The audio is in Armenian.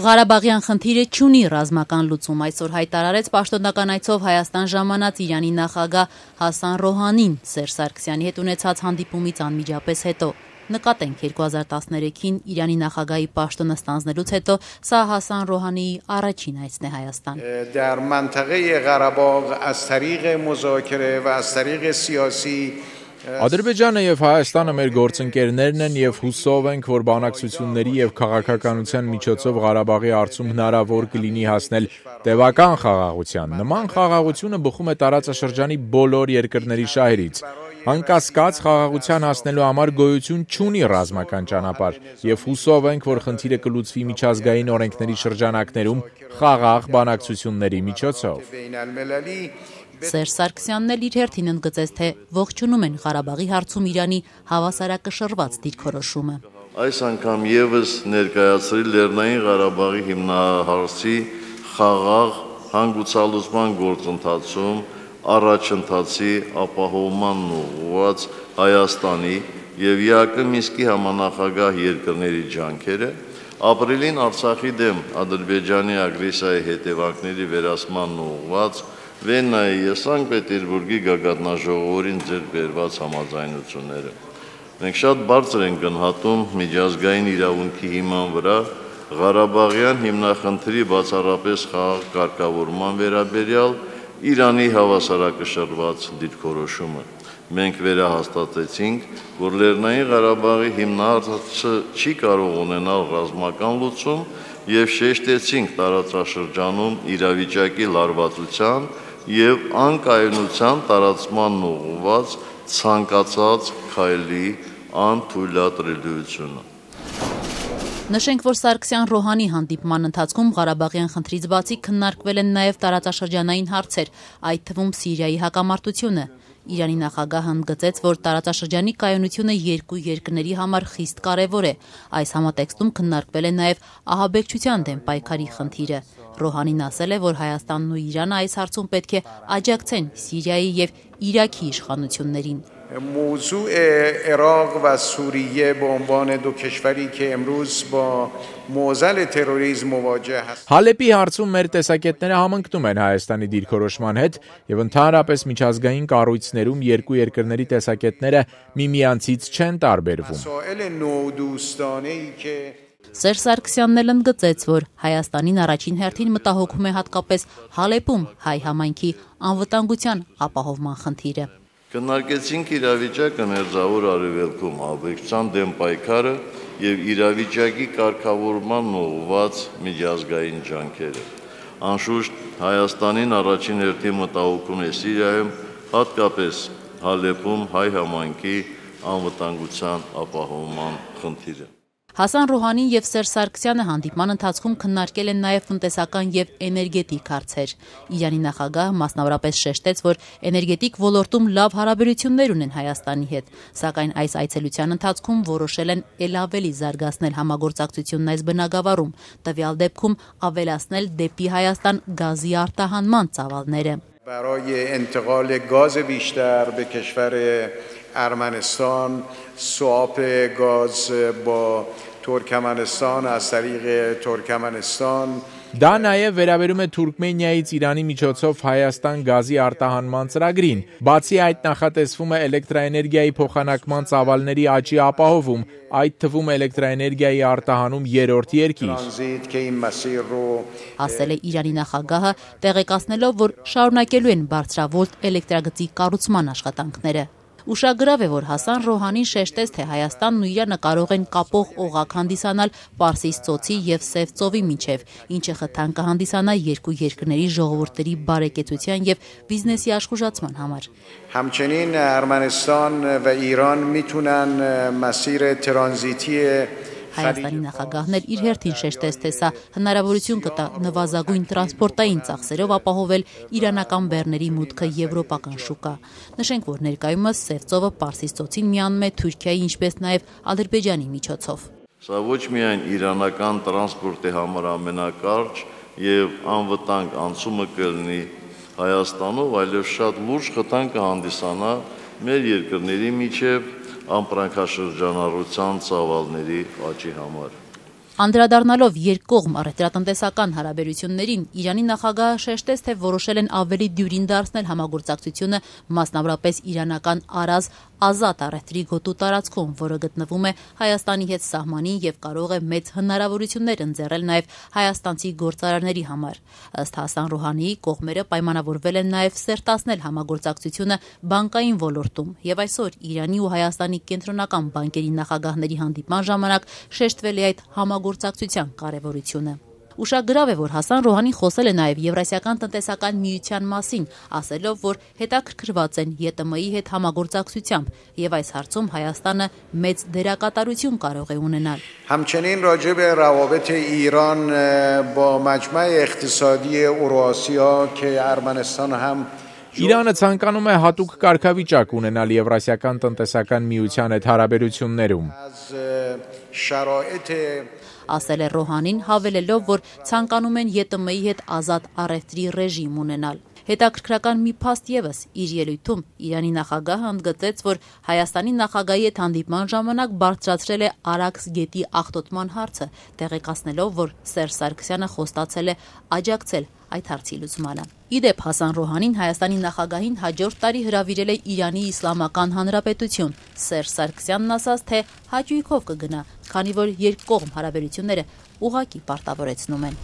Ղարաբաղյան խնդիրը չունի ռազմական լուծում, այսօր հայտարարեց պաշտոնական այցով Հայաստան ժամանած Իրանի նախագահ Հասան Ռոհանին Սերժ Սարգսյանի հետ ունեցած հանդիպումից անմիջապես հետո։ Նկատենք 2013-ին Իրանի նախագահի պաշտոնը ստանձնելուց հետո սա Հասան Ռոհանիի առաջին այցն է Հայաստան։ در منطقه غرباغ از طریق مذاکره و از طریق سیاسی Ադրբեջանը եւ Հայաստանը մեր գործընկերներն են եւ հուսով ենք, որ բանակցությունների եւ քաղաքականության միջոցով Ղարաբաղի հարցում հնարավոր կլինի հասնել տևական խաղաղության։ Նման խաղաղությունը բխում է տարածաշրջանի բոլոր երկրների շահերից։ Անկասկած խաղաղության հասնելու համար գոյություն չունի ռազմական ճանապարհ եւ հուսով ենք, որ խնդիրը կլուծվի միջազգային օրենքների շրջանակներում խաղաղ բանակցությունների միջոցով։ Սերժ Սարգսյանն էլ իր հերթին ընդգծեց, թե ողջունում են Ղարաբաղի հարցում Իրանի հավասարակշռված դիրքորոշումը։ Այս անգամ եւս ներկայացրել Լեռնային Ղարաբաղի հիմնահարցի խաղաղ հանգուցալուծման գործընթացում առաջընթացի ապահովման ուղղված Հայաստանի եւ ԵԱԿ Մինսկի համանախագահ երկրների ջանքերը ապրիլին Արցախի դեմ Ադրբեջանի ագրեսիայի հետևանքների վերացման ուղղված Վեննայի եւ Սանկտ Պետերբուրգի գագաթնաժողովին ձեռք բերված համաձայնությունները։ Մենք շատ բարձր ենք գնահատում միջազգային իրավունքի հիման վրա Ղարաբաղյան հիմնախնդրի բացառապես խաղաղ կարգավորման վերաբերյալ Իրանի հավասարակշռված դիրքորոշումը։ Մենք վերահաստատեցինք, որ Լեռնային Ղարաբաղի հիմնահարցը չի կարող ունենալ ռազմական լուծում եւ շեշտեցինք տարածաշրջանում իրավիճակի լարվածության եւ անկայունության տարածման ուղղված ցանկացած քայլի անթույլատրելիությունը։ Նշենք, որ Սարգսյան-Ռոհանի հանդիպման ընթացքում Ղարաբաղյան խնդրից բացի քննարկվել են նաև տարածաշրջանային հարցեր, այդ թվում Սիրիայի հակամարտությունը։ Իրանի նախագահը ընդգծեց, որ տարածաշրջանի կայունությունը երկու երկրների համար խիստ կարևոր է։ Այս համատեքստում քննարկվել է նաև ահաբեկչության դեմ պայքարի խնդիրը։ Ռոհանին ասել է, որ Հայաստանն ու Իրանը այս հարցում պետք է աջակցեն Սիրիայի եւ Իրաքի իշխանություններին։ موضوع عراق و سوریه به عنوان دو کشوری که امروز با معضل تروریسم مواجه هستند. Հալեպի հարցում մեր տեսակետները համընկնում են Հայաստանի դիրքորոշման հետ եւ ընդհանրապես միջազգային կառույցներում երկու երկրների տեսակետները միմյանցից չեն տարբերվում։ Սերժ Սարգսյանն էլ ընդգծեց, որ Հայաստանին առաջին հերթին մտահոգում է հատկապես Հալեպում հայ համայնքի անվտանգության ապահովման խնդիրը։ Քննարկեցինք իրավիճակը Մերձավոր Արևելքում ահաբեկչության դեմ պայքարը եւ իրավիճակի կարգավորման ուղղված միջազգային ջանքերը։ Անշուշտ Հայաստանին առաջին հերթին մտահոգում է Սիրիայում, հատկապես Հալեպում հայ համայնքի անվտանգության ապահովման խնդիրը։ Հասան Ռոհանին եւ Սերժ Սարգսյանը հանդիպման ընթացքում քննարկել են նաեւ տնտեսական եւ էներգետիկ հարցեր։ Իրանի նախագահը մասնավորապես շեշտեց, որ էներգետիկ ոլորտում լավ հարաբերություններ ունեն Հայաստանի հետ, սակայն այս այցելության ընթացքում որոշել են ել ավելի զարգացնել համագործակցությունն այս բնագավառում, տվյալ դեպքում ավելացնել դեպի Հայաստան գազի արտահանման ծավալները։ برای انتقال گاز بیشتر به کشور ارمنستان سواپ گاز با ترکمنستان از طریق ترکمنستان Դա նաև վերաբերում է Թուրքմենիայից Իրանի միջոցով Հայաստան գազի արտահանման ծրագրին։ Բացի այդ նախատեսվում է էլեկտրաէներգիայի փոխանակման ծավալների աճի ապահովում, այդ թվում էլեկտրաէներգիայի արտահանում երրորդ երկիր։ Ասել է Իրանի նախագահը, տեղեկացնելով, որ շարունակելու են բարձրավոլտ էլեկտրագծի կառուցման աշխատանքները։ Ուշագրավ է, որ Հասան Ռոհանին շեշտեց, թե Հայաստանն ու Իրանը կարող են կապող օղակ հանդիսանալ Պարսից ծոցի եւ Սև ծովի միջև, ինչը խթան կհանդիսանա երկու երկրների ժողովուրդների բարեկեցության եւ բիզնեսի աշխուժացման համար։ همچنین ارمنستان و ایران میتونن مسیر ترانزیتی Հայաստանի նախագահն էլ իր հերթին շեշտեց, թե սա հնարավորություն կտա նվազագույն տրանսպորտային ծախսերով ապահովել իրանական բեռների մուտքը եվրոպական շուկա։ Նշենք, որ ներկայումս Սև ծովը Պարսից ծոցին միանում է Թուրքիայի, ինչպես նաև Ադրբեջանի միջոցով։ Սա ոչ միայն իրանական տրանսպորտի համար ամենակարճ եւ անվտանգ անցումը կլինի Հայաստանով, այլև շատ լուրջ խթան կհանդիսանա մեր երկրների միջև ամպրանքաշրջանառության ծավալների աճի համար։ Անդրադառնալով երկկողմ առևտրատնտեսական հարաբերություններին, Իրանի նախագահը շեշտեց, թե որոշել են ավելի դյուրին դարձնել համագործակցությունը, մասնավորապես իրանական Արազ ազատ առևտրի գոտու տարածքում, որը գտնվում է Հայաստանի հետ սահմանին եւ կարող է մեծ հնարավորություններ ընձեռել նաեւ հայաստանցի գործարարների համար։ Ըստ Հասան Ռոհանիի, կողմերը պայմանավորվել են նաեւ սերտացնել համագործակցությունը բանկային ոլորտում եւ այսօր Իրանի ու Հայաստանի կենտրոնական բանկերի նախագահների հանդիպման ժամանակ շեշտվել է այդ համագործակցության կարեւորությունը։ Ուշագրավ է, որ Հասան Ռոհանին խոսել է նաև Եվրասիական տնտեսական միության մասին, ասելով, որ հետաքրքրված են ԵՏՄ-ի հետ համագործակցությամբ եւ այս հարցում Հայաստանը մեծ դերակատարություն կարող է ունենալ։ همچنین راجع به روابط ایران با مجمع اقتصادی اوراسیا که ارمنستان هم Իրանը ցանկանում է հատուկ կարգավիճակ ունենալ Եվրասիական տնտեսական միության հետ հարաբերություններում։ Ասել է Ռոհանին, հավելելով, որ ցանկանում են ԵՏՄ-ի հետ ազատ առևտրի ռեժիմ ունենալ։ Հետաքրքրական մի փաստ ևս իր ելույթում Իրանի նախագահը ընդգծեց, որ Հայաստանի նախագահի հետ հանդիպման ժամանակ բարձրացրել է Արաքս գետի աղտոտման հարցը, տեղեկացնելով, որ Սերժ Սարգսյանը խոստացել է աջակցել այդ հարցի լուծմանը։ Իդեպ Հասան Ռոհանին Հայաստանի նախագահին հաջորդ տարի հրավիրել է Իրանի Իսլամական Հանրապետություն։ Սերժ Սարգսյանն ասաց, թե հաճույքով կգնա, քանի որ երկկողմ հարաբերությունները ուղղակի պարտավորեցնում են։